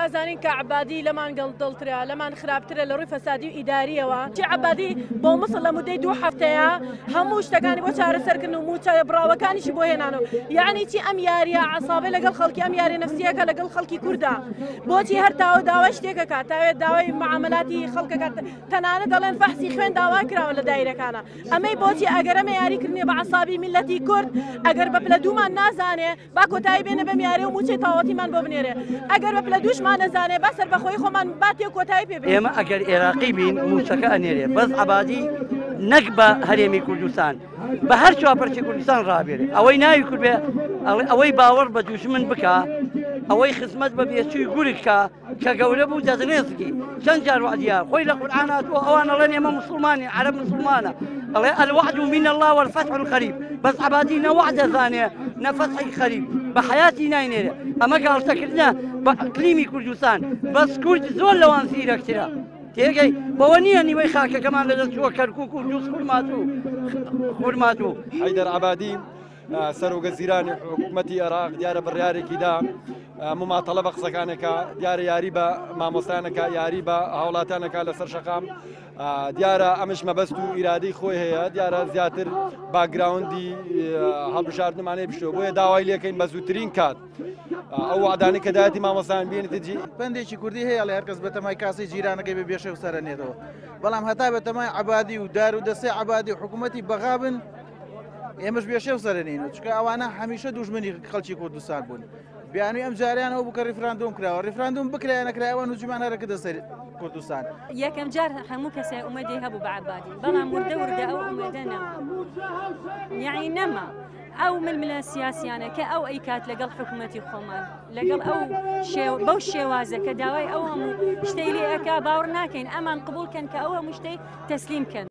ئەزانین کە عەبادی لەمان گەندەڵترە، لەمان خراپترە لە ڕووی فەسادی و ئیداریەوە. چی عەبادی بۆ موسڵ لە مودەی دوو هەفتەیە هەموو شتەکانی بۆ چارەسەرکردن و مووچە بڕاوەکانیشی بۆ هێنانەوە. یەعنی چی ئەم یاریە عەسابەی لەگەڵ خەڵکی، ئەم یاریە نەفسیەکە لەگەڵ خەڵکی کوردە. بۆچی هەر تاوە داوای شتێکەکە، تاوێت داوای معاملاتی خەڵکەکە، تەنانەت دەڵێن فەحسی خوێن داوا کراوە لە دایرەکانە. ئەمەی بۆچی ئەگەر ئەمە یاری کردنیە بە عەسابی میللەتی کورد، ئەگەر بە پلە دوومان نازانێ با کۆتایی بێنێ بەم یاریە و مووچەی تەواوەتیمان بۆ بنێرێ، ئەگەر بە پلە دووشمان نەزانێ با سەربەخۆیی خۆمان با تێ کۆتایی پێ بێنێ. ئێمە ئەگەر ئێراقی بین مووچەکە ئەنێرێ، بەس عەبادی نەک بە هەرێمی کوردستان بە هەر چوارپەرچەی کوردستان ڕابێرێ، ئەوەی ناوی کورد بێ ئەوەی باوەڕ بە دوژمن بکا، ئەوەی خزمەت بە بێچووی گورگ کا، کە گەورە بوو دەستڕێزکی چەند جار وعدیا خۆی لە قورئان هاتووە ئەوان ئەڵێن ئێمە مسلمانین عەرەب مسلمانە ئەڵێ الوعد من الله والفتح القریب بەس عەبادی نە وعد دەزانێ نە فەتحی قەریب بە حەیاتی ناینێرێ ئەمە گاڵتەکردنە بە ئەقلیمی کوردستان بەس کورد زۆر لەوان زیرەکترە تێگەی بەوە نییە نیوەی خاکەکەمان لەدەست چووە کەرکوک و دووز خورماتوو خورماتوو. حەیدەر عەبادی سەرۆکەزیرانی حکوومەتی عێراق دیارە بڕیارێکی دا مماتەڵە بە قسەکانێکە دیارە یاری بە مامۆستانەکە یاری بە هاوڵاتانەکە لەسەر شەقام دیارە ئەمش مەبەست و ئیرادەی خۆی هەیە دیارە زیاتر باگراوندی هەڵبژاردنمانەیە بشتەوە بۆیە داوای لەکەین بە زووترین کات ئەو وعدانەی کە دایەتی مامۆستایان بێنێتە جی. پەندێکی کوردی هەیە ئەڵێ هەرکەس بەتەمای کاسەی جیرانەکەی بێ بێشێ و سەرە نێتەوە بەڵام هەتا بەتەمای عەبادی و دار و دەستەی عەبادی و حکوومەتی بەغا بن ئێمەش بێشێ و سەرە نین و چکە ئەوانە هەمیشە دوژمنی خەڵکی کوردستان بوون بیانوی ئەم جاریان ئەو بوو کە ڕیفراندۆم کراوە ڕیفراندۆم بکرایە نەکرایە ئەوان هجومیان هەرەکردە سەر کوردستان. یەکەم جار هەموو کەسێ ئومێدی هەبوو بە عەبادی بەڵام وردە وردە ئەو ئومێدە نەما یەعنی نەما ئەو ململە سیاسیانە کە ئەو ئەیکات لەگەڵ حکوومەتی خۆمان لەگەڵ ئەو بەو شێوازە کە داوای ئەو هەموو شتەی لێ ئەکا باوەڕ ناکەین ئەمان قبوڵ کەن کە ئەو هەموو شتەی تەسلیم کەن.